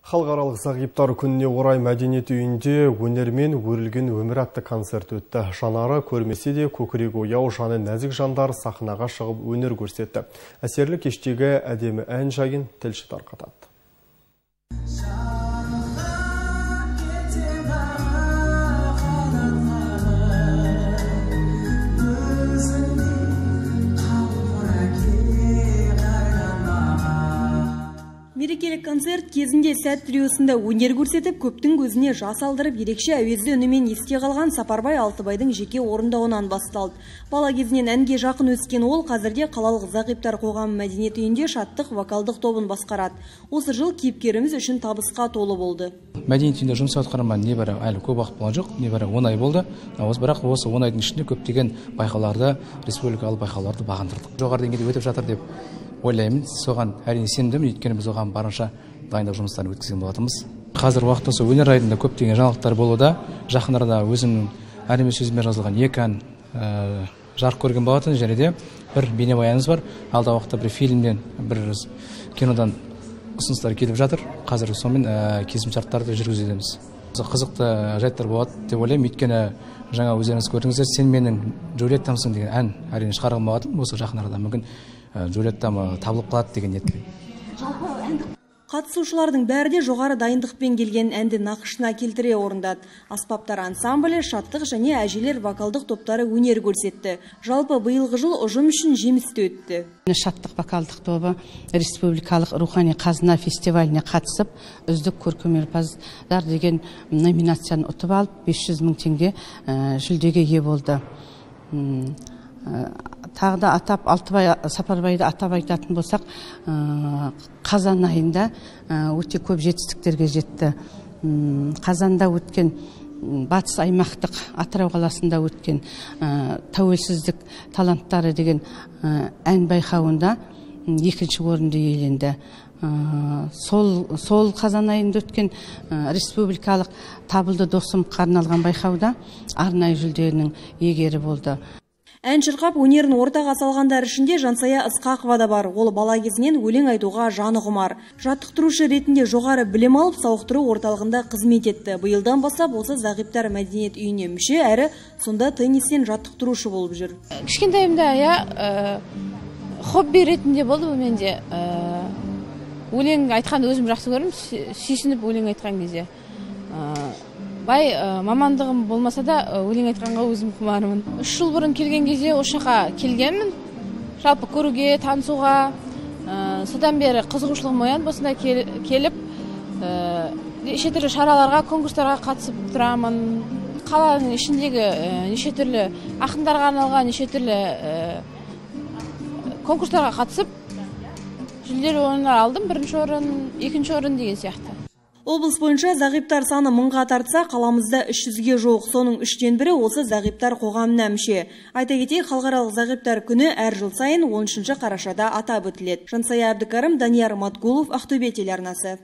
Халықаралық зағиптар күніне орай мәдениет үйінде өнермен өрілген өмір атты концерт өтті. Жанары көрмесе де көкірегі ояу, жаны нәзік жандар сахнаға шығып өнер көрсетті. Әсерлі кештегі әдемі ән жайын тілші тарқатады. Мерекелік концерт кезінде сәт триосында өнер көрсетіп, көптің көзіне жас алдырып, ерекше әуезді үнімен есте қалған Сапарбай Алтыбайдың жеке орындауынан басталды. Бала кезінен әнге жақын өскен ол қазірде қалалық зағиптар қоғамы мәдениет үйінде шаттық вокалдық тобын басқарады. Осы жыл кейіпкеріміз үшін табысқа толы болды. Мәдениет үйінде жұмыс атқарған небәрі әлі көп уақыт болған жоқ, небәрі 10 ай болды. Бірақ осы 10 айдың ішінде көптеген байқауларды, республикалық байқауларды бағындырдық. Жоғары деңгейде өтіп жатыр деп ойлаймын. Соған әрине сенімдімін, өйткені біз оған барынша дайындық жұмыстарын өткізген болатынбыз. Қазір уақытта осы өнер айдында көптеген жаңалықтар болуда. Жақын арада өзімнің әлемі сөзіме жазылған 2 ән жарық көрген болатын, және де бір бейнебаянымыз бар. Алда уақытта бір фильмден, бір кинодан ұсыныстар келіп жатыр. Қазір сонымен келісімшарттарды жүргізудеміз. Қызықты жайттар болады деп ойлаймын, өйткені жаңа өздеріңіз көрдіңіздер, сен менің Джульеттамсың деген ән әрине шығарған болатын. Осы жақын арада мүмкін Джульеттам табылып қалады деген ниетпен. Қатысушылардың бәрі де жоғары дайындықпен келген әнді нақышына келтіре орындады. Аспаптар ансамблі, шаттық және әжелер вокалдық топтары өнер көрсетті. Жалпы биылғы жыл ұжым үшін жемісті өтті. Шаттық вокалдық тобы республикалық рухани қазына фестиваліне қатысып, үздік көркемөнерпаздар деген номинацияны ұтып алып, 500 мың теңге жүлдеге ие болды. Тағы да Сапарбайды атап айтатын болсақ, қазан айында өте көп жетістіктерге жетті. Қазанда өткен батыс аймақтық Атырау қаласында өткен тәуелсіздік таланттары деген ән байқауында 2-ші орынды иеленді. Сол қазан айында өткен республикалық табылды досымға арналған байқауда арнайы жүлденің иегері болды. Ән шырқап өнерін ортаға салғандар ішінде Жансая Ысқақова да бар. Ол бала кезінен өлең айтуға жаны құмар. Жаттықтырушы ретінде жоғары білім алып, сауықтыру орталығында қызмет етті. Биылдан бастап осы зағиптар мәдениет үйіне мүше, әрі сонда теннистен жаттықтырушы болып жүр. Кішкентайымда хобби ретінде болды бұл менде. Өлең айтқанды өзім жақсы көрдім, сүйсініп өлең айтқан кезде. Мамандығым болмаса да өлең айтқанға өзім құмарымын. 3 жыл бұрын келген кезде Ошаққа келгенмін. Жалпы көруге, танысуға, содан бері қызығушылығым оянып, осында келіп, неше түрлі шараларға, конкурстарға қатысып тұрамын. Қаланың ішіндегі неше түрлі ақындарға арналған неше түрлі конкурстарға қатысып, жүлделі орындар алдым. 1-ші орын, 2-ші орын деген сияқты. Облыс бойынша зағиптар саны 1000-ға тартса, қаламызда 300-ге жоқ. Соның 3-тен бірі осы зағиптар қоғамына мүше. Айта кетейік, халықаралық зағиптар күні әр жыл сайын 13 қарашада атап өтіледі. Жансая Әбдікәрім, Данияр Матгулов, Ақтөбе телеарнасы.